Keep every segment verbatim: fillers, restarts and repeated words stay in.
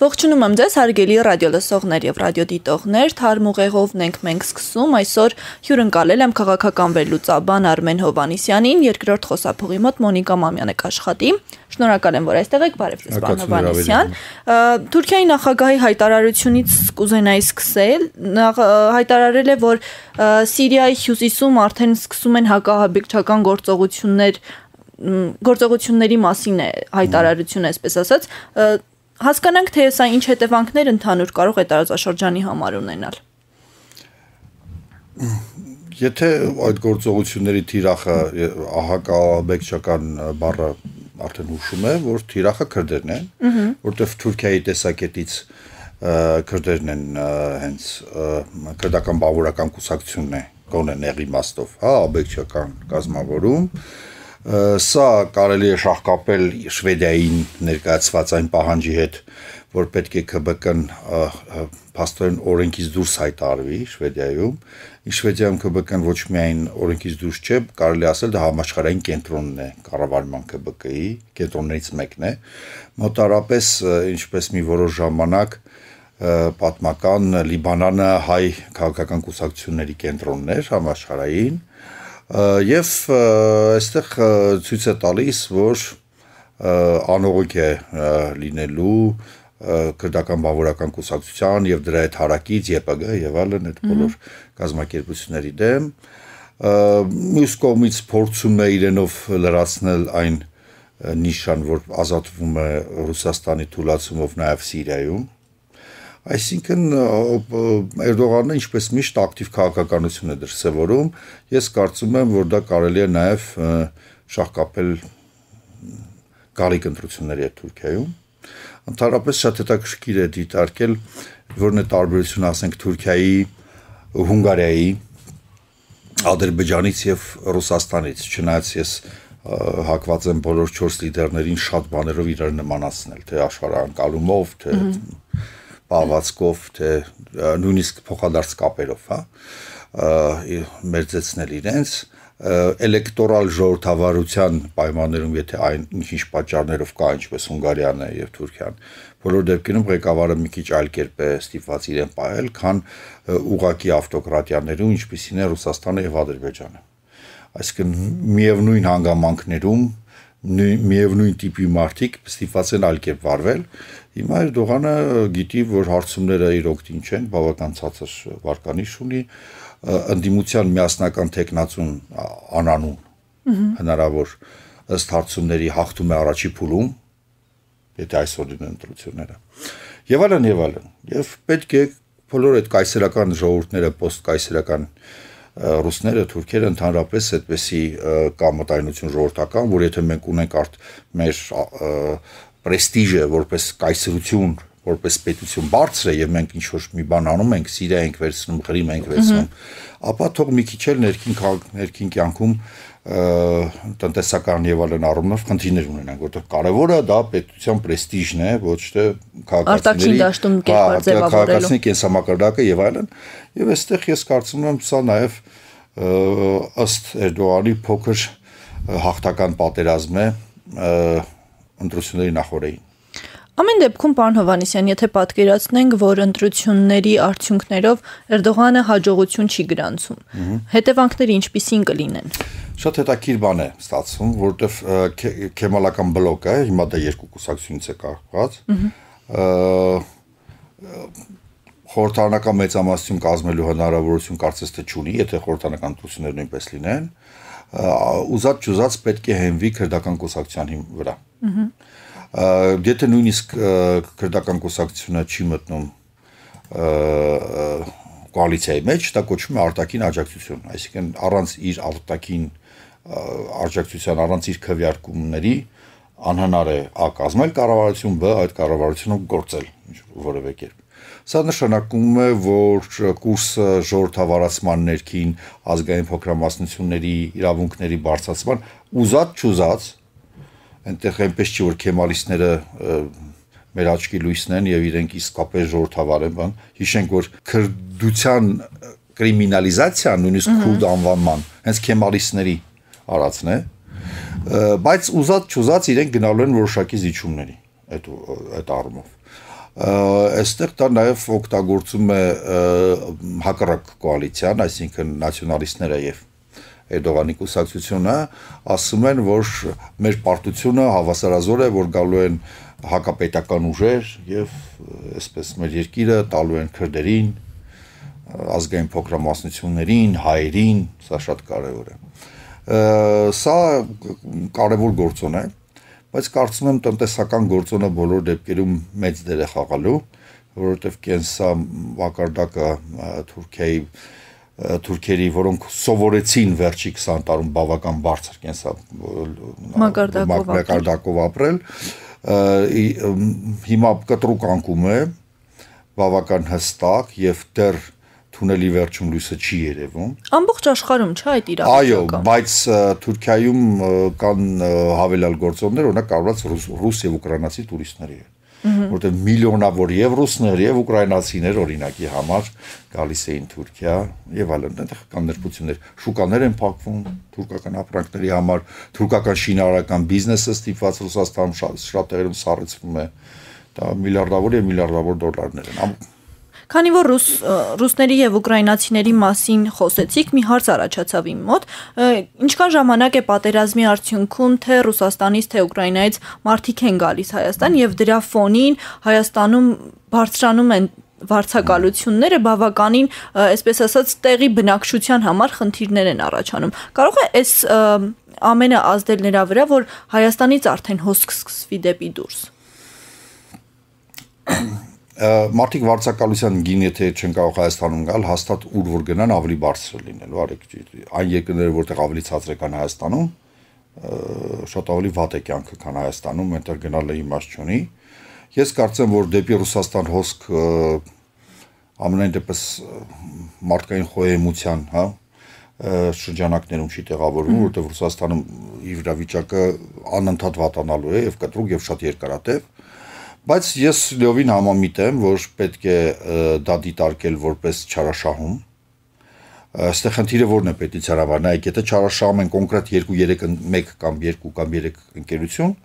Ողջունում եմ ձեզ, հարգելի ռադիոլսողներ եւ ռադիոդիտողներ, թարմ ուղեղովն ենք մենք սկսում, այսօր հյուրընկալել եմ քաղաքական վերլուծաբան Արմեն Հովհաննիսյանին, երկրորդ խոսափողի մոտ Մոնիկա Մամյանը կաշխատի։ Շնորհակալ եմ, որ այստեղ եք, բարև ձեզ, պարոն Հովհաննիսյան։ Թուրքիայի նախագահի հայտարարությունից կուզենայի սկսել, հայտարարել է, որ Սիրիայի հյուսիսում արդեն սկսում են հակահաբեկչական գործողություններ, գործողությունների մասին է հայտարարությունը, այսպես ասած, հասկանանք, թե սա ինչ հետևանքներ ընդհանուր կարող է տարածաշրջանի համար ունենալ։ Եթե այդ գործողությունների թիրախը հակահաբեկչական բառը արդեն հուշում է, որ թիրախը քրդերն են, որտեղ Թուրքիայի տեսակետից քրդերն են հենց քրդական բավարարական կուսակցությունն է, գոնե նեղ իմաստով, հա, աբեկչական կազմավորում։ Սա կարելի է շահկապել Շվեդիային ներկայացված այն պահանջի հետ, որ պետք է K B K-ն փաստորեն օրենքից դուրս հայտարարվի Շվեդիայում։ Շվեդիայում K B K-ն ոչ միայն օրենքից դուրս չէ, կարելի ասել դա համաշխարհային կենտրոնն է կառավարման K B K-ի, կենտրոններից մեկն է։ Մոտարապես ինչպես մի որոշ ժամանակ պատմական Լիբանանը հայ քաղաքական կուսակցությունների կենտրոնն էր համաշխարհային։ Եվ այստեղ ցույց է տալիս, որ անողոք է լինելու քրդական բավարարական կուսակցության եւ դրա հետ հարակից Ե P G եւ այլն այդ բոլոր կազմակերպությունների դեմ։ Մյուս կողմից փորձում է իրենով լրացնել այն նիշան, որ ազատվում է Ռուսաստանի թուլացումով նաեւ Սիրիայում։ Այսինքն Էրդողանը ինչպես միշտ ակտիվ քաղաքականություն է դրսևորում, ես կարծում եմ, որ դա կարելի է նաև շահկապել գալիք ընտրությունների հետ Թուրքիայում։ Ընդհանրապես շատ հետաքրքիր է դիտարկել, որն է տարբերությունը, ասենք, Թուրքիայի, Հունգարիայի, Ադրբեջանից եւ Ռուսաստանից, չնայած ես հակված եմ բոլոր չորս լիդերներին շատ բաներով իրար նմանացնել, թե աշխարհանկալումով, թե պահվածքով, թե նույնիսկ փոխադարձ կապերով, հա, մերձեցնել իրենց, էլեկտորալ ժողովրդավարության պայմաններում, եթե այն ինչ-ինչ պատճառներով կա, ինչպես Հունգարիան է եւ Թուրքիան, բոլոր դեպքերում ղեկավարը մի քիչ այլ կերպ է ստիպված իրեն պահել, քան ուղղակի ավտոկրատիաներում, ինչպիսին է Ռուսաստանը եւ Ադրբեջանը։ Այսինքն միևնույն հանգամանքներում միևնույն տիպի մարդիկ ստիպված են այլ կերպ վարվել։ Հիմա Էրդողանը գիտի, որ հարցումները իր օգտին չեն, բավական ցածր վարկանիշ ունի, ընդդիմության միասնական տեխնացուն անանուն հնարավոր ըստ հարցումների հաղթում է առաջի փուլում, եթե այսօր լինեն ընտրությունները։ Եվ այլն եւ այլն։ Եվ պետք է բոլոր այդ կայսերական ժողովուրդները, պոստկայսերական ռուսները, թուրքերը ընդհանրապես այդպեսի կամտայնություն ժողովրդական, որ եթե մենք ունենք արդ մեր պրեստիժը որպես կայսրություն, որպես պետություն բարձր է եւ մենք ինչ որ մի բան անում ենք, Սիրիա ենք վերցնում, Ղրիմ ենք վերցնում, ապա թող մի քիչ էլ ներքին ներքին կյանքում տնտեսական եւ այլն առումով խնդիրներ ունենանք, որտեղ կարևորը դա պետության պրեստիժն է, ոչ թե քաղաքացիների քաղաքացիների կենսամակարդակը եւ այլն։ Եվ այստեղ ես կարծում եմ սա նաեւ ըստ Էրդողանի փոքր հաղթական պատերազմ է ընտրությունների նախորդին։ Ամեն դեպքում, պարոն Հովհաննիսյան, եթե պատկերացնենք, որ ընտրությունների արդյունքներով Էրդողանը հաջողություն չի գրանցում, հետևանքները ինչպիսին կլինեն։ Շատ հետաքրքիր բան է ստացվում, որովհետև քեմալական բլոկը, հիմա դա երկու կուսակցությունից է կազմված, խորհրդարանական մեծամասնություն կազմելու հնարավորություն կարծես թե չունի, եթե խորհրդարանական ընտրությունները նույնպես լինեն, ուզած չուզած պետք է հենվի քրդական կուսակցության վրա։ Եթե նույնիսկ քրդական կուսակցությունը չի մտնում կոալիցիայի մեջ, դա կոչվում է արտաքին աջակցություն, այսինքն առանց իր արտաքին աջակցության, առանց իր քվեարկումների անհնար է ա կազմել կառավարություն, բ այդ կառավարությունը գործել որևէ կերպ։ Սա նշանակում է, որ կուրսը ժողովրդավարացման ներքին ազգային փոքրամասնությունների իրավունքների բարձրացման ուզած չուզած այնտեղ այնպես չի որ քեմալիստները մեր աչքի լույսն են եւ իրենք իսկապես ժողովրդավար են, բան։ Հիշենք, որ քրդության կրիմինալիզացիան, նույնիսկ քուրդ անվանման, հենց քեմալիստների արածն է, բայց ուզած չուզած իրենք գնալու են որոշակի զիջումների այդ այդ առումով։ Այստեղ դա նաև օգտագործում է հակառակ կոալիցիան, այսինքն նացիոնալիստները եւ Էրդողանի կուսակցությունը ասում են, որ մեր պարտությունը հավասարազոր է, որ գալու են հակապետական ուժեր եւ այսպես մեր երկիրը տալու են քրդերին, ազգային փոքրամասնություններին, հայերին, սա շատ կարեւոր է։ Սա կարևոր գործոն է, բայց կարծում եմ տնտեսական գործոնը բոլոր դեպքերում մեծ դեր է խաղալու, որովհետև կենսա մակարդակը Թուրքիայի թուրքերի, որոնք սովորեցին վերջի քսան տարում բավական բարձր կենսա մակարդակով ապրել, հիմա կտրուկ անկում է, բավական հստակ եւ դեռ թունելի վերջում լույսը չի երևում։ Ամբողջ աշխարհում չէ այդ իրավիճակը։ Այո, բայց Թուրքիայում կան հավելյալ գործոններ, օրինակ կառված ռուս եւ ուկրաինացի տուրիստների հետ, որտեղ միլիոնավոր եւ ռուսներ եւ ուկրաինացիներ օրինակի համար գալիս էին Թուրքիա եւ այլն, այնտեղ կան ներբություններ, շուկաներ են փակվում թուրքական ապրանքների համար, թուրքական շինարարական բիզնեսը ստիպված Ռուսաստանում շատ տեղերում սառեցվում է, դա միլիարդավոր եւ միլիարդավոր դոլարներ են։ Քանի որ ռուս ռուսների եւ ուկրաինացիների մասին խոսեցիք, մի հարց առաջացավ իմ մոտ, ինչքան ժամանակ է պատերազմի արդյունքում թե Ռուսաստանից, թե Ուկրաինայից մարդիկ են գալիս Հայաստան եւ դրա ֆոնին Հայաստանում բարձրանում են վարձակալությունները բավականին, այսպես ասած, տեղի բնակչության համար խնդիրներ են առաջանում։ Կարող է այս ամենը ազդել նրա վրա, որ Հայաստանից արդեն հոսք սկսվի դեպի դուրս։ Մարդիկ վարձակալության գին եթե չեն կարող Հայաստանում գալ, հաստատ ուր որ գնան ավելի բարձր լինելու, արեք այն երկրները, որտեղ ավելի ցածր է կան Հայաստանում, շատ ավելի վատ է կյանքը, քան Հայաստանում, այնտեղ գնալը իմաստ չունի։ Ես կարծեմ, որ դեպի Ռուսաստան հոսք ամենայն դեպս մարդկային խոհեմության, հա, շրջանակներում չի տեղավորվում, որտեղ Ռուսաստանում իրավիճակը անընդհատ վատանալու է եւ կտրուկ եւ շատ երկարատև։ Բայց ես լիովին համամիտ եմ, որ պետք է դա դիտարկել որպես չարաշահում։ Այստեղ խնդիրը որն է պետության համար, նայեք, եթե չարաշահում են կոնկրետ երկու երեք մեկ կամ երկու կամ երեք ընկերություն,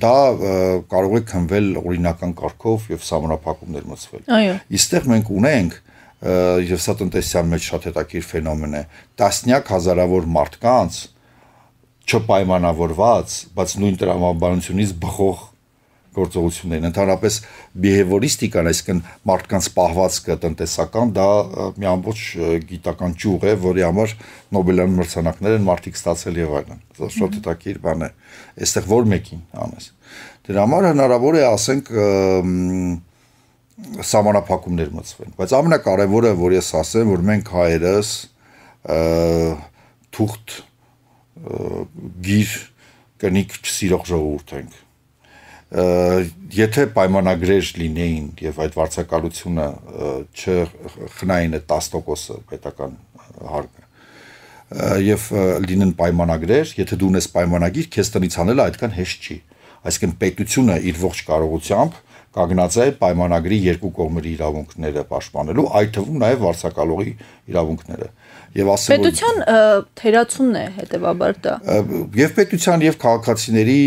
դա կարող է քննվել օրինական կարգով եւ սահմանափակումներ մտցվել։ Այո։ Այստեղ մենք ունենք եւ սա տնտեսության մեջ շատ հետաքրքիր ֆենոմեն է, տասնյակ հազարավոր մարդկանց չպայմանավորված, բայց նույն տրամաբանությունից բխող գործողություններն, ընդհանրապես բիհևորիստիկան, այսինքն մարդկանց պահվածքը տնտեսական, դա մի ամբողջ գիտական ճյուղ է, որի համար Նոբելյան մրցանակներ են մարդիկ ստացել եւ այլն։ Դա շատ հետաքրքիր բան է։ Այստեղ որ մեկին անես։ Դրա համար հնարավոր է, ասենք, սահմանափակումներ մտցվեն, բայց ամենակարևորը, որ ես ասեմ, որ մենք հայերս թուղթ գիր կնիկ չսիրող ժողովուրդ ենք։ Եթե պայմանագրեր լինեին եւ այդ վարձակալությունը չխնային է տասը տոկոսը պետական հարկը եւ լինեն պայմանագրեր, եթե դու ունես պայմանագիր, քեզ տնից անելը այդքան հեշտ չի։ Այսինքն պետությունը իր ողջ կարողությամբ կանգնած է պայմանագրի երկու կողմերի իրավունքները պաշտպանելու, այդ թվում նաեւ վարձակալողի իրավունքները։ Եվ ասեմ, պետության թերացումն է հետեւաբար դա։ Եվ պետության եւ քաղաքացիների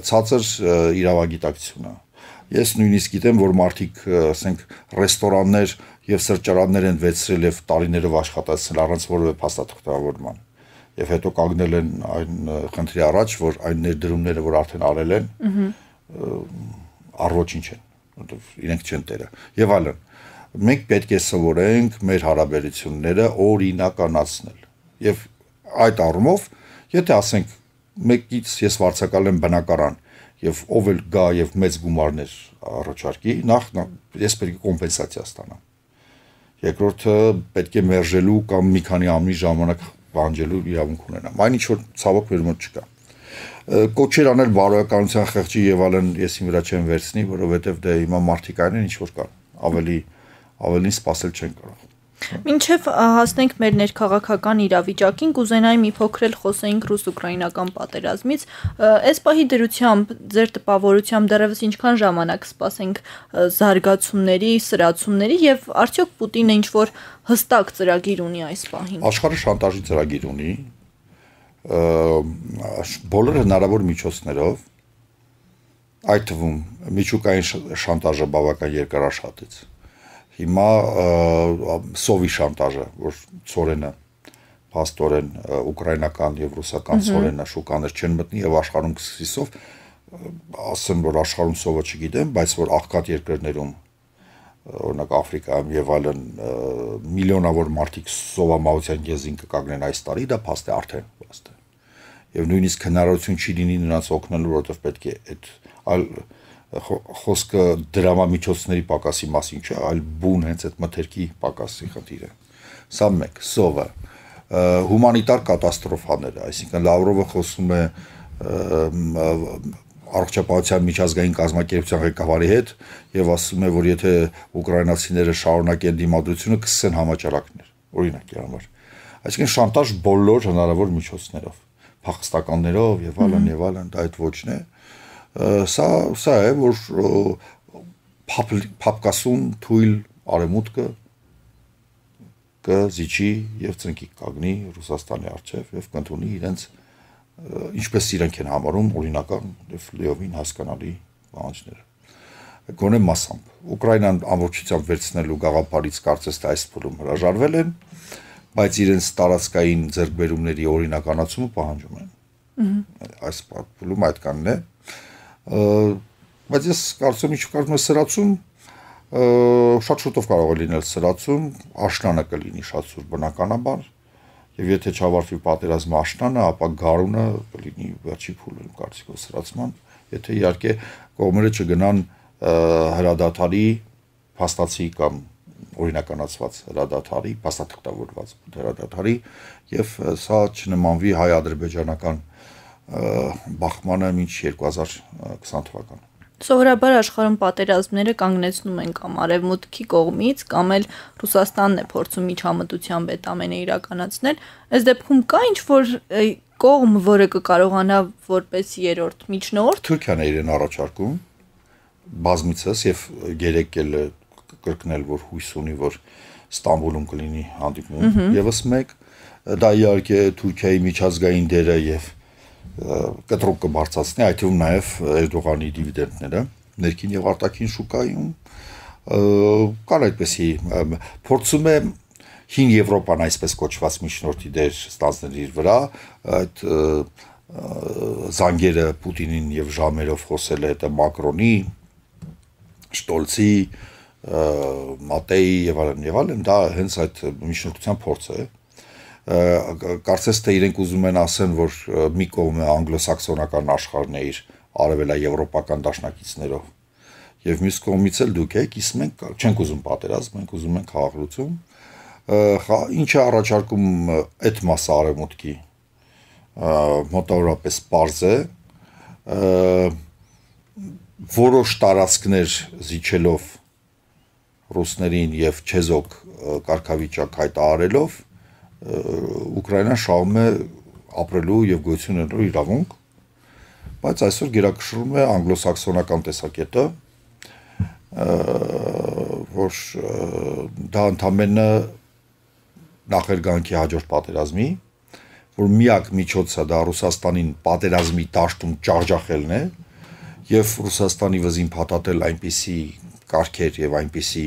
ցածր իրավագիտակցությունը։ Ես նույնիսկ գիտեմ, որ մարդիկ, ասենք, ռեստորաններ եւ սրճարաններ են վեցրել եւ տարիներով աշխատացել առանց որևէ փաստաթղթավորման։ Եվ հետո կանգնել են այն խնդրի առաջ, որ այն ներդրումները, որ արդեն արել են, առոչինչ են, որովհետեւ իրենք չեն տերը։ Եվ այլն։ Մենք պետք է սովորենք մեր հարաբերությունները օրինականացնել։ Եվ այդ առումով, եթե ասենք մեկից ես վարձակալեմ բնակարան եւ ով էլ գա եւ մեծ գումարներ առաջարկի, նախ ես պետք է կոմպենսացիա ստանամ։ Երկրորդը պետք է մերժելու կամ մի քանի ամի ժամանակ բանջելու իրավունք ունենամ։ Այն ինչ որ ցավոք մեր մոտ չկա։ Կոչեր անել բարոյականության խեղճի եւ այլն ես իմ վրա չեմ վերցնի, որովհետեւ դե հիմա մարդիկ այն են ինչ որ կան, ավելի ավելին սпасել չեն կարող։ Մինչև հասնենք մեր ներքաղաքական իրավիճակին, կուզենայի մի փոքր էլ խոսեինք ռուս-ուկրաինական պատերազմից, այս պահի դրությամբ ձեր տպավորությամբ դեռևս ինչքան ժամանակ սպասենք զարգացումների, սրացումների եւ արդյոք Պուտինը ինչ որ հստակ ծրագիր ունի այս պահին։ Աշխարհը շանտաժի ծրագիր ունի, բոլոր հնարավոր միջոցներով այդ թվում միջուկային շանտաժը բավական երկարաշատեց։ Հիմա սովի շանտաժը, որ ծորենը փաստորեն ուկրաինական եւ ռուսական ծորենը շուկաներ չեն մտնի եւ աշխարհում կսկսի սով, ասեմ որ աշխարհում սովը չգիտեմ, բայց որ աղքատ երկրներում օրինակ Աֆրիկայում եւ այլն միլիոնավոր մարդիկ սովամահության գեզին կկանգնեն այս տարի, դա փաստ է արդեն փաստ է։ Եվ նույնիսկ հնարավորություն չի լինի նրանց օգնելու, որովհետեւ պետք է այդ այլ խոսքը դրամամիջոցների պակասի մասին չէ, այլ բուն հենց այդ մթերքի պակասի խնդիրը։ Սա մեկ, սովը, հումանիտար կատաստրոֆաները, այսինքն Լավրովը խոսում է առողջապահության միջազգային կազմակերպության ղեկավարի հետ եւ ասում է, որ եթե ուկրաինացիները շարունակեն դիմադրությունը, կսկսեն համաճարակներ, օրինակի համար։ Այսինքն շանտաժ բոլոր հնարավոր միջոցներով, փախստականներով եւ այլն եւ այլն, դա այդ ոչն է։ Սա սա է, որ փապկասուն թույլ արեմուտքը կզիջի եւ ծնկի կագնի Ռուսաստանի առջեւ եւ կընդունի իրենց ինչպես իրենք են համարում օրինական եւ լիովին հասկանալի պահանջները։ Գոնե մասամբ Ուկրաինան ամբողջությամբ վերցնելու գաղափարից կարծես թե այս փուլում հրաժարվել են, բայց իրենց տարածքային ձեռքբերումների օրինականացումը պահանջում են։ Այս փուլում այդքանն է։ Բայց ես կարծում եմ, ինչ կարծում եմ սրացում շատ շուտով կարող է լինել սրացում, աշնանը կլինի շատ սուր բնականաբար, եւ եթե չավարտվի պատերազմը աշնանը, ապա գարունը կլինի վերջի փուլը կարծիքով սրացման, եթե իհարկե կողմերը չգնան հրադադարի փաստացի կամ օրինականացված հրադադարի, փաստաթղթավորված հրադադարի եւ սա չնմանվի հայ-ադրբեջանական բախմանը մինչ երկու հազար քսան թվականը։ Սովորաբար աշխարհում պատերազմները կանգնեցնում են կամ արևմուտքի կողմից, կամ էլ Ռուսաստանն է փորձում միջամտությամբ այդ ամենը իրականացնել։ Այս դեպքում կա ինչ-որ կողմ, որը կկարողանա որպես երրորդ միջնորդ։ Թուրքիան է իրեն առաջարկում բազմիցս եւ երեք էլ կրկնել, որ հույս ունի, որ Ստամբուլում կլինի հանդիպում, եւս մեկ, դա իհարկե Թուրքիայի միջազգային դերը եւ կտրուկ կբարձրացնի, այդ թվում նաև Էրդողանի դիվիդենդները ներքին եւ արտաքին շուկայում կան այդպեսի փորձում է հին Եվրոպան այսպես կոչված միջնորդի դեր ստանձնել իր վրա, այդ զանգերը Պուտինին եւ ժամերով խոսել է հետո Մակրոնի, Շտոլցի, Մատեի եւ այլն եւ այլն, դա հենց այդ միջնորդության փորձ է։ Կարծես թե իրենք ուզում են ասեն, որ մի կողմը անգլոսաքսոնական աշխարհն է իր արևելաեվրոպական դաշնակիցներով եւ մյուս կողմից էլ դուք եք, իսկ մենք չենք ուզում պատերազմ, մենք ուզում ենք խաղաղություն, ինչը առաջարկում այդ մասը արևմուտքի մոտավորապես պարզ է, որոշ տարածքներ զիջելով ռուսներին եւ չեզոք կարգավիճակ հայտարարելով Ուկրաինան շահում է ապրելու եւ գոյություն ունենալու իրավունք, բայց այսօր գերակշռում է անգլոսաքսոնական տեսակետը, որ դա ընդամենը նախերգանքի հաջորդ պատերազմի, որ միակ միջոցը դա Ռուսաստանին պատերազմի դաշտում ջախջախելն է եւ Ռուսաստանի վզին փաթաթել այնպիսի կարգեր եւ այնպիսի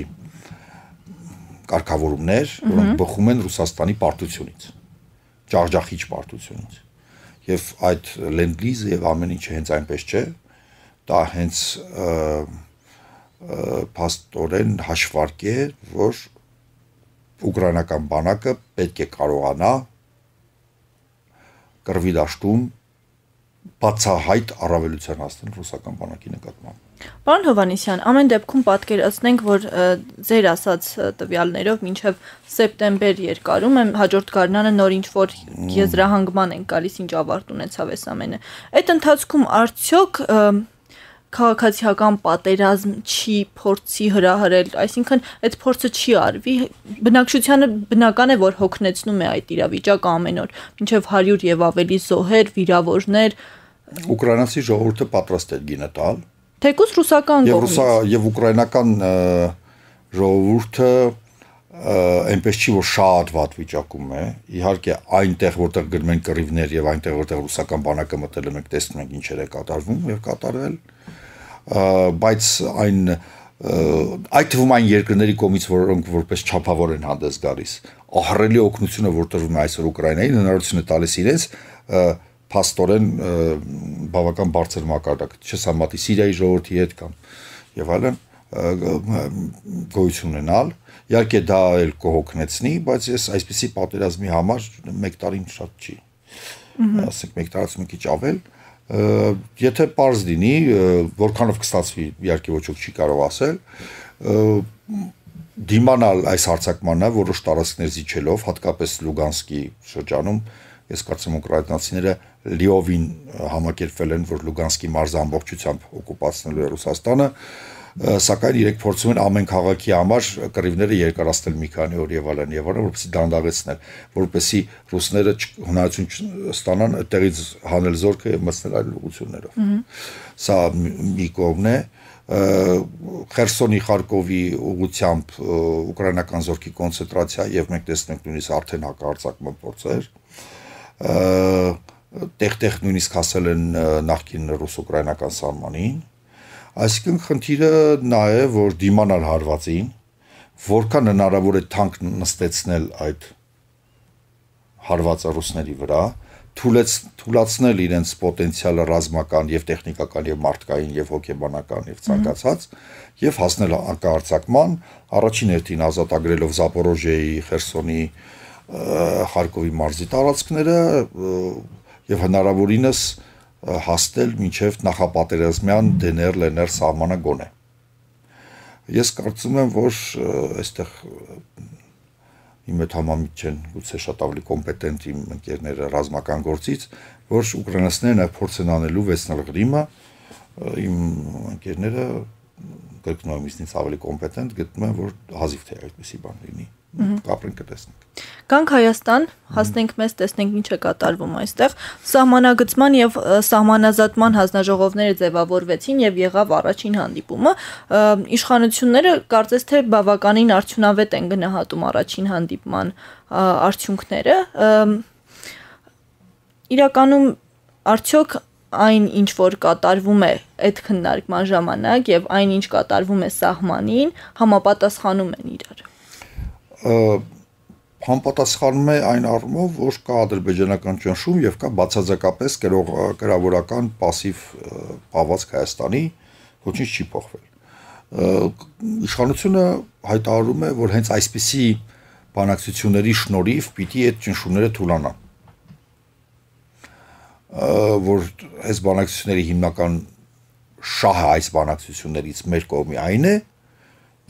կարգավորումներ, որոնք բխում են Ռուսաստանի պարտությունից, ջախջախիչ պարտությունից։ Եվ այդ լենդ-լիզը եւ ամեն ինչը հենց այնպես չէ, դա հենց փաստորեն հաշվարկ է, որ ուկրաինական բանակը պետք է կարողանա կռվի դաշտում բացահայտ առավելության հասնել ռուսական բանակի նկատմամբ։ Պարոն Հովհաննիսյան, ամեն դեպքում պատկերացնենք, որ ձեր ասած տվյալներով մինչև սեպտեմբեր երկարում է հաջորդ գարնանը նոր ինչ-որ եզրահանգման են գալիս, ինչ ավարտ ունեցավ այս ամենը։ Այդ ընթացքում արդյոք քաղաքացիական պատերազմ չի փորձի հրահրել, այսինքն այդ փորձը չի արվի, բնակչությանը բնական է, որ հոգնեցնում է այդ իրավիճակը ամեն օր, մինչև հարյուր եւ ավելի զոհեր, վիրավորներ։ Ուկրաինացի ժողովուրդը պատրաստ է գինը տալ։ Թեկուզ ռուսական կողմից։ Եվ ուկրաինական ժողովուրդը այնպես չի, որ շատ վատ վիճակում է։ Իհարկե այնտեղ, որտեղ գնում են կռիվներ եւ այնտեղ, որտեղ ռուսական բանակը մտել է, մենք տեսնում ենք ինչեր է կատարվում եւ կատարվել։ բայց այն այդ թվում այն երկրների կողմից, որոնք որպես չափավոր են հանդես գալիս, ահռելի օգնությունը, որ տրվում է այսօր Ուկրաինային, հնարավորություն է տալիս իրենց փաստորեն բավական բարձր մակարդակ, չսահմատի Սիրիայի ժողովրդի հետ կամ եւ այլն գոյություն ունենալ։ Իհարկե դա էլ կհոգնեցնի, բայց ես այսպիսի պատերազմի համար մեկ տարին շատ չի։ Ասենք մեկ տարից մի քիչ ավել, եթե պարզ լինի, որքանով կստացվի, իհարկե ոչ ոք չի կարող ասել, դիմանալ այս հարձակմանը որոշ տարածքներ զիջելով, հատկապես Լուգանսկի շրջանում, ես կարծում եմ ուկրաինացիները լիովին համակերպվել են, որ Լուգանսկի մարզը ամբողջությամբ օկուպացնելու է Ռուսաստանը, սակայն իրենք փորձում են ամեն քաղաքի համար կռիվները երկարացնել մի քանի օր եւ այլն եւ այլն, որպեսզի դանդաղեցնել, որպեսզի ռուսները հնարավորություն ստանան այդտեղից հանել զորքը եւ մտցնել այլ ուղություններով։ Սա մի կողմն է, Խերսոնի, Խարկովի ուղությամբ ուկրաինական զորքի կոնցենտրացիա եւ մենք տեսնենք նույնիսկ արդեն հակահարձակման փորձեր, տեղ-տեղ նույնիսկ հասել են նախկին ռուս-ուկրաինական սահմանին։ Այսինքն խնդիրը նա է, որ դիմանալ հարվածին, որքան հնարավոր է թանկ նստեցնել այդ հարվածը ռուսների վրա, թուլացնել իրենց պոտենցիալը ռազմական եւ տեխնիկական եւ մարդկային եւ հոգեբանական եւ ցանկացած եւ հասնել հակահարձակման, առաջին հերթին ազատագրելով Զապորոժիայի, Խերսոնի, Խարկովի մարզի տարածքները եւ հնարավորինս հասնել մինչև նախապատերազմյան դե են էր-ել են էր սահմանը գոնե։ Ես կարծում եմ, որ այստեղ իմ հետ համամիտ չեն, գուցե շատ ավելի կոմպետենտ իմ ընկերները ռազմական գործից, որ ուկրաինացիներն այդ փորձ են անելու վերցնել Ղրիմը, իմ ընկերները կրկնում եմ ինձնից ավելի կոմպետենտ, գտնում են, որ հազիվ թե այդպեսի բան լինի։ Կապրենք կտեսնենք։ Գանք Հայաստան, հասնենք մեզ, տեսնենք ինչ է կատարվում այստեղ։ Սահմանագծման եւ սահմանազատման հանձնաժողովները ձևավորվեցին եւ եղավ առաջին հանդիպումը։ Իշխանությունները կարծես թե բավականին արդյունավետ են գնահատում առաջին հանդիպման արդյունքները։ Իրականում արդյոք այն ինչ որ կատարվում է այդ քննարկման ժամանակ եւ այն ինչ կատարվում է սահմանին, համապատասխանում են իրար։ Համապատասխանում է այն առումով, որ կա ադրբեջանական ճնշում եւ կա բացարձակապես կրավորական пассив պահվածք Հայաստանի, ոչինչ չի փոխվել։ Իշխանությունը հայտարարում է, որ հենց այսպիսի բանակցությունների շնորհիվ պիտի այդ ճնշումները թուլանան։ Որ այս բանակցությունների հիմնական շահը այս բանակցություններից մեր կողմի այն է,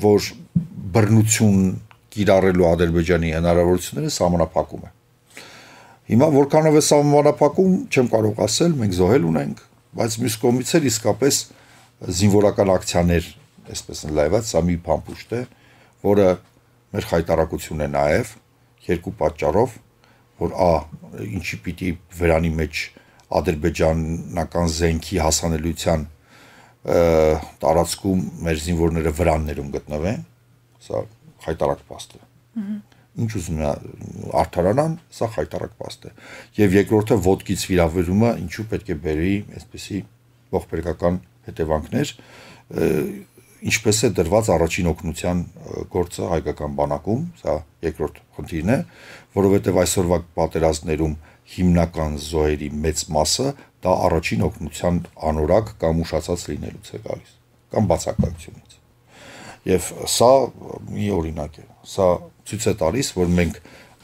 որ բռնություն կիրառելու Ադրբեջանի հնարավորությունները սահմանափակում է։ Հիմա որքանով է սահմանափակում, չեմ կարող ասել, մենք զոհել ունենք, բայց մյուս կողմից էլ իսկապես զինվորական ակցիաներ, այսպես ընդլայնված, սա մի փամփուշտ է, որը մեր խայտարակությունն է նաև երկու պատճառով, որ ա ինչի պիտի վերանի մեջ ադրբեջանական զենքի հասանելիության տարածքում մեր զինվորները վրաններում գտնվեն, սա խայտարակ փաստ է։ Ինչ ուզում է արդարանան, սա խայտարակ փաստ է։ Եվ երկրորդը ոդկից վիրավորումը ինչու պետք է բերի այսպեսի ողբերգական հետևանքներ, ինչպես է դրված առաջին օգնության գործը հայկական բանակում, սա երկրորդ խնդիրն է, որովհետև այսօրվա պատերազմներում հիմնական զոհերի մեծ մասը դա առաջին օգնության անորակ կամ ուշացած լինելուց է գալիս, կամ բացակայությունից։ Եվ սա մի օրինակ է, սա ցույց է տալիս, որ մենք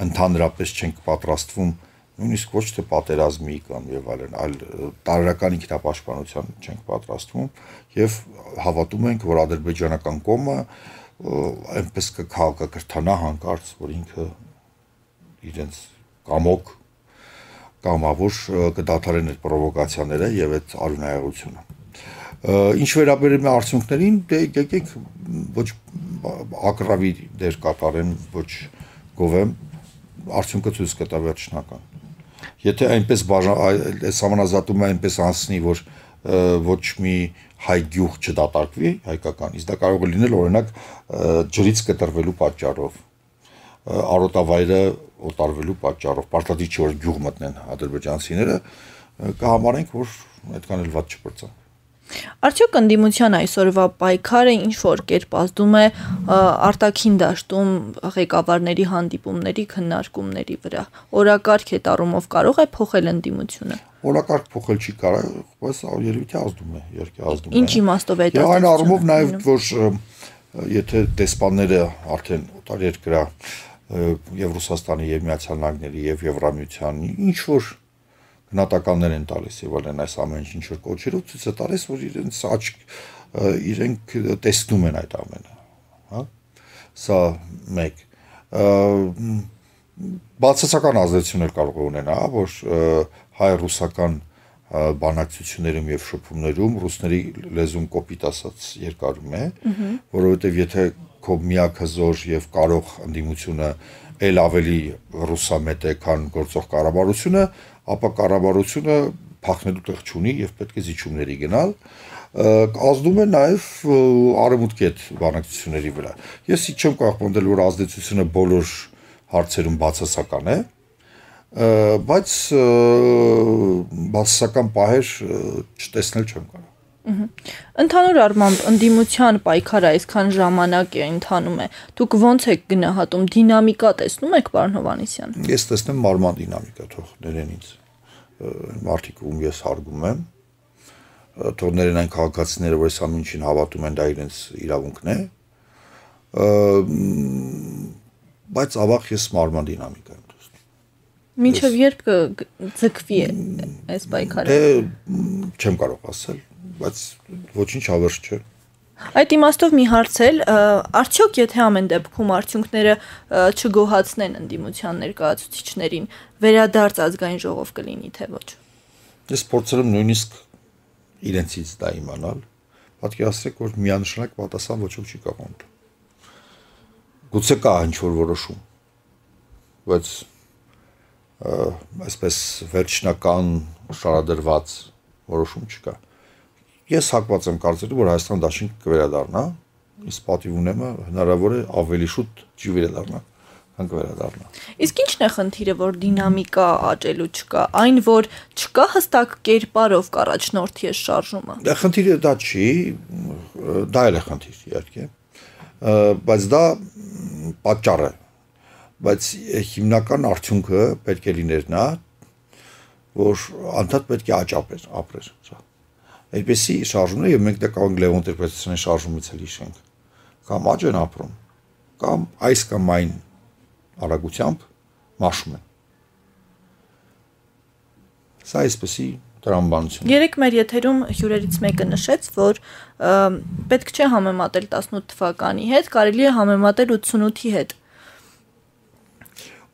ընդհանրապես չենք պատրաստվում նույնիսկ ոչ թե պատերազմի կամ եւ այլն, այլ տարրական ինքնապաշտպանության չենք պատրաստվում եւ հավատում ենք, որ ադրբեջանական կողմը այնպես կքաղաքրթանա հանկարծ, որ ինքը իրենց կամոք կամավոր կդադարեն այդ պրովոկացիաները եւ այդ արյունահեղությունը։ Ինչ վերաբերում է արդյունքներին, դե եկեք ոչ ակրավի դեր կատարեն, ոչ գովեմ, արդյունքը ցույց կտա վերջնական։ Եթե այնպես համանազատումը այնպես անցնի, որ ոչ մի հայ գյուղ չդատարկվի, հայկական, իսկ դա կարող է լինել օրինակ ջրից կտրվելու պատճառով, արոտավայրը օտարվելու պատճառով, պարտադիր չէ որ գյուղ մտնեն ադրբեջանցիները, կհամարենք, որ այդքան էլ վատ չպրծան։ Արդյոք ընդդիմության այսօրվա պայքարը ինչ որ կերպ ազդում է արտաքին դաշտում ղեկավարների հանդիպումների քննարկումների վրա։ Օրակարգ այդ առումով կարող է փոխել ընդդիմությունը։ Օրակարգ փոխել չի կարող, բայց երևի ազդում է, իհարկե ազդում է։ Ինչ իմաստով է դա։ Եվ այն առումով նաև որ եթե դեսպանները արդեն օտարերկրյա եւ Ռուսաստանի եւ Միացյալ Նահանգների եւ Եվրամիության ինչ որ գնահատականներ են տալիս եւ այլն այս ամեն ինչ որ կոչերով ցույց է տալիս, որ իրենց աչք իրենք տեսնում են այդ ամենը, հա։ Սա մեկ բացասական ազդեցություն էլ կարող է ունենա, որ հայ-ռուսական բանակցություններում եւ շփումներում ռուսների լեզուն կոպիտ ասած երկարում է, որովհետեւ եթե քո միակ հզոր եւ կարող ընդդիմությունը ել ավելի ռուսամետ է, քան գործող կառավարությունը, ապա կառավարությունը փախնելու տեղ չունի եւ պետք է զիջումների գնալ, ազդում է նաեւ արևմուտքի հետ բանակցությունների վրա։ Ես չեմ կարող պնդել, որ ազդեցությունը բոլոր հարցերում բացասական է, բայց բացասական պահեր չտեսնել չեմ կարող։ Ընդհանուր առմամբ ընդդիմության պայքարը այսքան ժամանակ է ընթանում է։ Դուք ոնց եք գնահատում, դինամիկա տեսնում եք, պարոն Հովհաննիսյան։ Ես տեսնեմ մարման դինամիկա, թող ներեն ինձ մարդիկ ում ես հարգում եմ, թող ներեն այն քաղաքացիները, որ այս ամեն ինչին հավատում են, դա իրենց իրավունքն է, բայց ավաղ ես մարման դինամիկա եմ տեսնում։ Մինչև երբ կձգվի այս պայքարը։ Չեմ կարող ասել, բայց ոչինչ հավերժ չէ։ Այդ իմաստով մի հարց էլ, արդյոք եթե ամեն դեպքում արդյունքները չգոհացնեն ընդդիմության ներկայացուցիչներին, վերադարձ ազգային ժողով կլինի թե ոչ։ Ես փորձել եմ նույնիսկ իրենցից դա իմանալ, պատկերացրեք, որ միանշանակ պատասխան ոչինչ չի կարող տալ։ Գուցե կա ինչ-որ որոշում, բայց այսպես վերջնական շարադրված որոշում չկա։ Ես հակված եմ կարծելու, որ Հայաստան դաշինք կվերադառնա, իսկ պատիվ ունեմ հնարավոր է ավելի շուտ չի վերադառնա, քան կվերադառնա։ Իսկ ի՞նչն է խնդիրը, որ դինամիկա աճելու չկա, այն որ չկա հստակ կերպարով կառաջնորդի այս շարժումը։ Դա խնդիրը դա չի, դա էլ է խնդիր, իհարկե, բայց դա պատճառ է, բայց հիմնական արդյունքը պետք է լիներ նա, որ անդադ պետք է աճապեր, ապրեր, սա։ Այդպեսի շարժումներ եւ մենք դա կարող Լևոն Տեր-Պետրոսյանի շարժումից էլ հիշենք, կամ աճ են ապրում, կամ այս կամ այն արագությամբ մաշում են։ Սա այսպեսի տրամաբանություն։ Երեք մեր եթերում հյուրերից մեկը նշեց, որ պետք չէ համեմատել տասնութ թվականի հետ, կարելի է համեմատել ութսունութի հետ։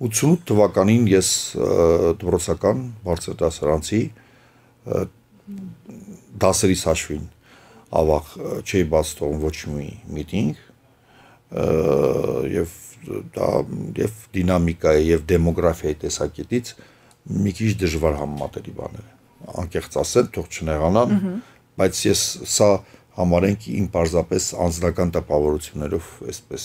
ութսունութ թվականին ես դպրոցական բարձր դասարանցի դասերից հաշվին ավաղ չի բաց թողում ոչ մի միտինգ եւ դա եւ դինամիկայի եւ դեմոգրաֆիայի տեսակետից մի քիչ դժվար համեմատելի բաներ է անկեղծ ասել թող չնեղանան բայց ես սա համարենք իմ պարզապես անձնական տպավորություններով այսպես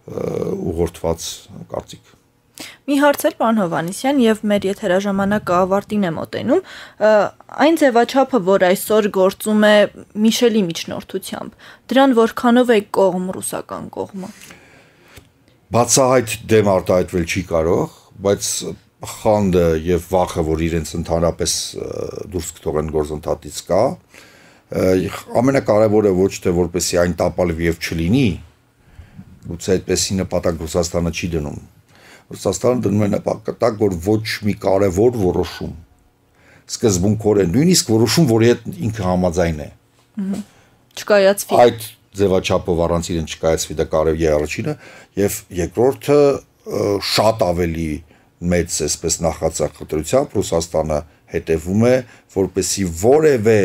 ուղղորդված կարծիք։ Մի հարց էլ պարոն Հովհաննիսյան եւ մեր եթերաժամանակը ավարտին է մոտենում, այն ձևաչափը, որ այսօր գործում է Միշելի միջնորդությամբ, դրան որքանով է կողմ ռուսական կողմը։ Բացահայտ դեմ արտահայտվել չի կարող, բայց խանդը եւ վախը, որ իրենց ընդհանրապես դուրս կթողեն գործընթացից կա, ամենակարևորը ոչ թե որպեսի այն տապալվի եւ չլինի, գուցե այդպեսի նպատակ Ռուսաստանը չի դնում։ Ռուսաստանը դնում է նպատակ, որ ոչ մի կարևոր որոշում սկզբունքորեն, նույնիսկ որոշում, որի հետ ինքը համաձայն է, չկայացվի։ Այդ ձևաչափով առանց իրեն չկայացվի, դա կարևոր է առաջինը, եւ երկրորդը շատ ավելի մեծ այսպես նախածախնդրությամբ Ռուսաստանը հետևում է, որպեսի որևէ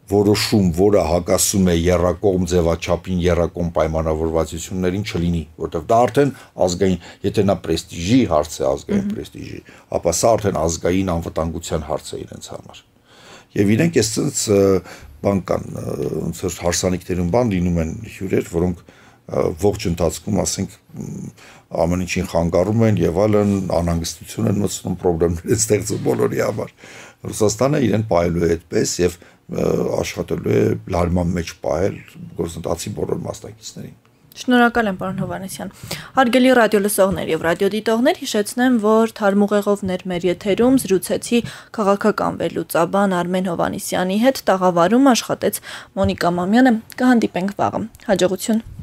որոշում, որը հակասում է եռակողմ ձևաչափին, եռակողմ պայմանավորվածություններին չլինի, որտեղ դա արդեն ազգային, եթե նա պրեստիժի հարց է, ազգային պրեստիժի, ապա սա արդեն ազգային անվտանգության հարց է իրենց համար։ Եվ իրենք այս ցած բան կան, ոնց որ հարսանիքներում բան լինում են հյուրեր, որոնք ողջ ընթացքում, ասենք, ամեն ինչին խանգարում են եւ այլն, անհանգստություն են մտցնում, խնդիրներ են ստեղծում բոլորի համար։ Ռուսաստանը իրեն պահելու է այդպես եւ աշխատելու է լարման մեջ պահել գործընթացի բոլոր մասնակիցներին։ Շնորհակալ եմ, պարոն Հովհաննիսյան։ Հարգելի ռադիոլսողներ եւ ռադիոդիտողներ, հիշեցնեմ, որ թարմուղեղովներ մեր եթերում զրուցեցի քաղաքական վերլուծաբան Արմեն Հովհաննիսյանի հետ, տաղավարում աշխատեց Մոնիկա Մամյանը։ Կհանդիպենք վաղը։ Հաջողություն։